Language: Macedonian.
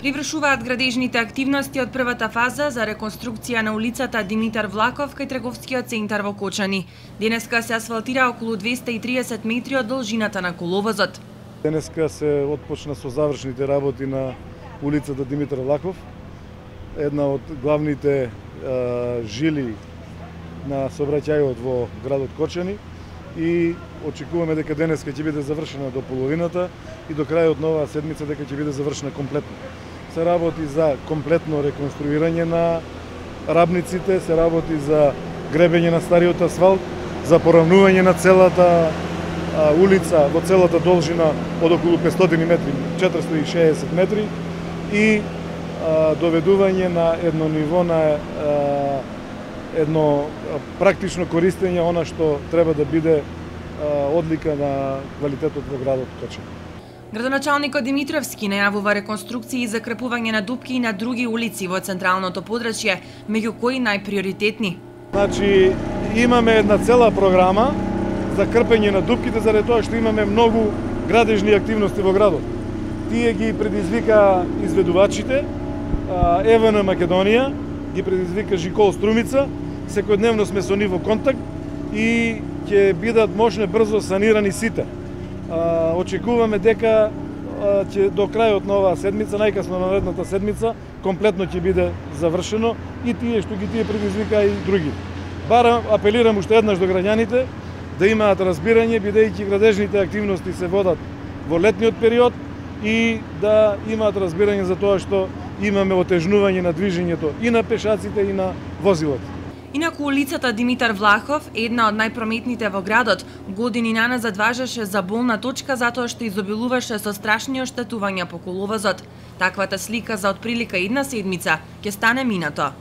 Привршуваат градежните активности од првата фаза за реконструкција на улицата Димитар Влахов кај трговскиот центар во Кочани. Денеска се асфалтира околу 230 метри од должината на коловозот. Денеска се отпочна со завршните работи на улицата Димитар Влахов, една од главните жили на сообраќајот во градот Кочани, и очекуваме дека денеска ќе биде завршена до половината и до крајот на оваа седмица дека ќе биде завршена комплетно. Се работи за комплетно реконструирање на рабниците, се работи за гребење на стариот асфалт, за поравнување на целата улица во целата должина од околу 500 метри, 460 метри и доведување на едно ниво на едно практично користење она што треба да биде одлика на квалитетот во градот Кочани. Градоначалникот Димитровски најавува реконструкции и закрепување на дупки и на други улици во централното подрачје, меѓу кои најприоритетни. Значи, имаме една цела програма за крпење на дупките, заради тоа што имаме многу градежни активности во градот. Тие ги предизвика изведувачите, ЕВН Македонија, ги предизвика Жикол Струмица, секојдневно сме со нив во контакт и ќе бидат можне брзо санирани сите. Очекуваме дека ќе до крајот на оваа седмица, најкасно на наредната седмица, комплетно ќе биде завршено и тие што ги предизвика и други. Барам, апелирам уште еднаш до граѓаните да имаат разбирање, бидејќи градежните активности се водат во летниот период и да имаат разбирање за тоа што имаме отежнување на движењето и на пешаците и на возилата. Инаку улицата Димитар Влахов, една од најпрометните во градот, години наназад важеше за болна точка затоа што изобилуваше со страшни оштетувања по коловозот. Таквата слика за отприлика една седмица ќе стане минато.